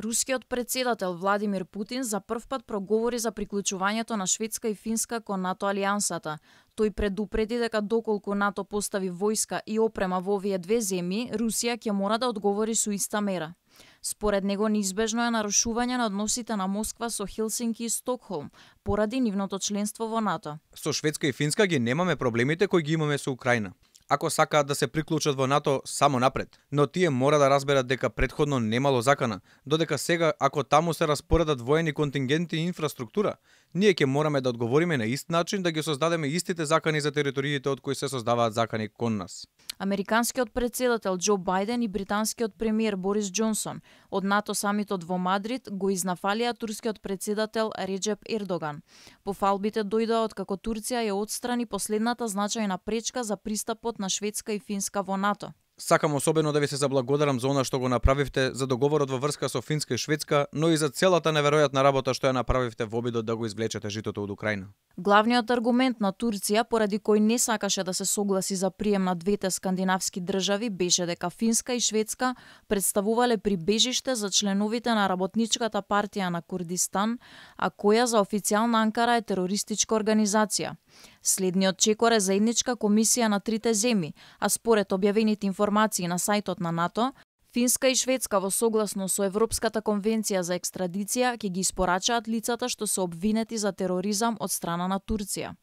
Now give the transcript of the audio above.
Рускиот председател Владимир Путин за прв пат проговори за приклучувањето на Шведска и Финска кон НАТО алијансата. Тој предупреди дека доколку НАТО постави војска и опрема во овие две земји, Русија ќе мора да одговори со иста мера. Според него неизбежно е нарушување на односите на Москва со Хелсинки и Стокхолм поради нивното членство во НАТО. Со Шведска и Финска ги немаме проблемите кои ги имаме со Украина. Ако сакаат да се приклучат во НАТО, само напред. Но тие мора да разберат дека претходно немало закана, додека сега, ако таму се распоредат воени контингенти и инфраструктура, ние ќе мораме да одговориме на ист начин да ги создадеме истите закани за териториите од кои се создаваат закани кон нас. Американскиот председател Џо Бајден и британскиот премиер Борис Џонсон од НАТО самитот во Мадрид го изнафалија турскиот председател Реџеп Ердоган. Пофалбите дојдоа откако Турција ја отстрани последната значајна пречка за пристапот на Шведска и Финска во НАТО. Сакам особено да ви се заблагодарам за она што го направивте за договорот во врска со Финска и Шведска, но и за целата неверојатна работа што ја направивте во обидот да го извлечете житото од Украина. Главниот аргумент на Турција поради кој не сакаше да се согласи за прием на двете скандинавски држави беше дека Финска и Шведска представувале прибежиште за членовите на работничката партија на Курдистан, а која за официјална Анкара е терористичка организација. Следниот чекор е заедничка комисија на трите земји, а според објавените информации на сајтот на НАТО, Финска и Шведска во согласно со Европската конвенција за екстрадиција ќе ги испорачаат лицата што се обвинети за тероризам од страна на Турција.